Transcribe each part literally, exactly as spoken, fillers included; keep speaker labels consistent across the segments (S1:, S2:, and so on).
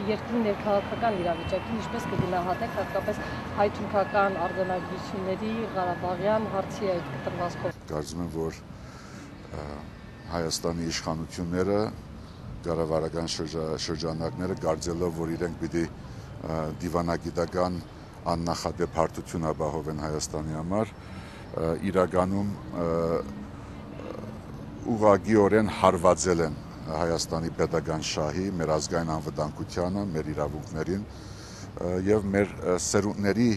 S1: երկրի ներքաղաքական իրավիճակին ինչպես կգնահատեք հատկապես հայ-թուրքական արձանագրությունների Ղարաբաղյան հարցի այդ կտրվածքով։
S2: Կարծում եմ, որ Հայաստանի իշխանությունները կառավարական շրջանակները գարձելով, որ իրենք պիտի դիվանագիտական աննախադեպ հարթություն ապահովեն Հայաստանի համար, իրականում ուղղակիորեն հարվածել են Հայաստանի պետական շահի, մեր ազգային անվտանգությանը, մեր իրավունքներին եւ մեր սերունդների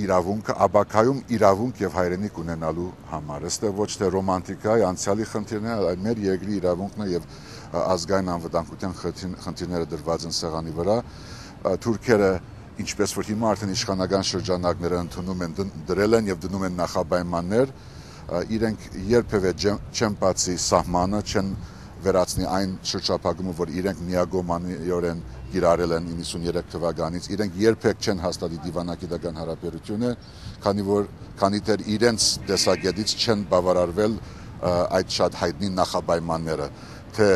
S2: իրավունքը, ապակայում իրավունք եւ հայրենիք ունենալու համար։ Այստեղ ոչ թե ռոմանտիկայի անցյալի խնդիրն է, այլ մեր երկրի իրավունքն է եւ ազգային անվտանգության խնդիրները դրված են սեղանի վրա։ Թուրքերը, ինչպես որ հիմա արդեն իշխանական շրջանակները ընդունում են, դրել են եւ դնում են նախապայմաններ, իրենք երբևէ չեն բացի սահմանը, չեն վերացնի այն շրջափակումը, որ իրենք միագոմանիորեն կիրառել են իննսուններեք թվականից, իրենք երբեք չեն հաստատի դիվանագիտական հարաբերությունը, քանի որ քանի դեռ իրենց տեսակետից չեն բավարարվել այդ շատ հայտնի նախապայմանները, թե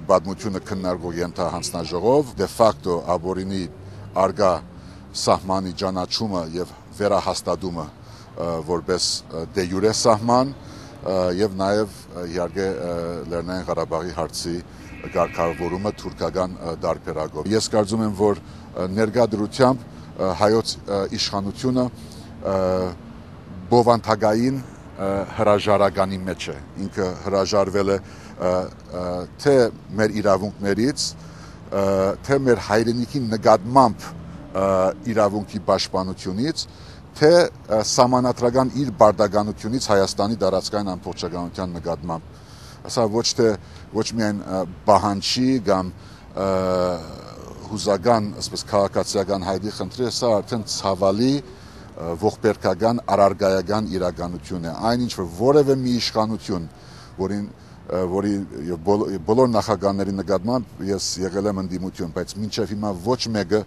S2: պատմությունը քննարկող ենթահանձնաժողով, դե ֆակտո ապօրինի արգա սահմանի ճանաչումը եւ վերահաստատումը որպես դե յուրե սահման եւ նաեւ իհարկե Լեռնային Ղարաբաղի հարցի կարգավորումը թուրքական դարբերակով։ Ես կարծում եմ, որ ներկա դրությամբ հայոց իշխանությունը բովանդակային հրաժարականի մեջ է։ Ինքը հրաժարվել է թե մեր իրավունքներից, թե մեր հայրենիքի նկատմամբ իրավունքի պաշտպանությունից, թե սահմանադրական իր բարդականությունից Հայաստանի տարածքային ամբողջականության նկատմամբ։ Սա ոչ թե ոչ միայն պահանջի կամ հուզական, ասես քաղաքացիական հայդի խնդիր, սա արդեն ցավալի ողբերգական առարգայական իրականություն է։ Այն ինչ որ որևէ մի իշխանություն, որին որի բոլոր նախագահների նկատմամբ ես եղել եմ ընդդիմություն, բայց մինչև հիմա ոչ մեկը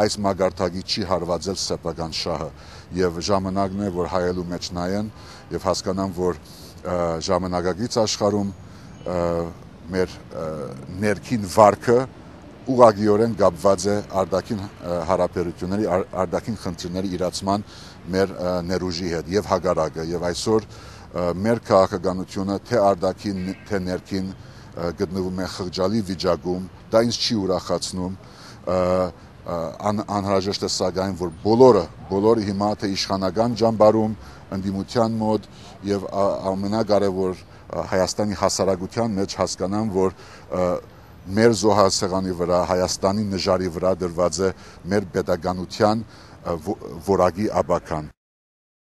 S2: այս մագարտակի չի հարվածել սեփական շահը եւ ժամանակն է, որ հայելու մեջ նայեն եւ հասկանան, որ ժամանակակից աշխարհում մեր ներքին վարքը ուղղակիորեն կապված է արտաքին հարաբերությունների, արտաքին խնդիրների իրացման մեր ներուժի հետ եւ հակառակը եւ այսօր մեր քաղաքականությունը թե արտաքին թե ներքին գտնվում է խղճալի վիճակում, դա ինձ չի ուրախացնում, անհրաժեշտ է սակայն, որ բոլորը, բոլորը հիմա թե իշխանական ճամբարում, ընդդիմության մոտ եւ ամենակարևոր Հայաստանի հասարակության մեջ հասկանան, որ մեր զոհասեղանի վրա, Հայաստանի նժարի վրա դրված է մեր պետականության որակի ապական։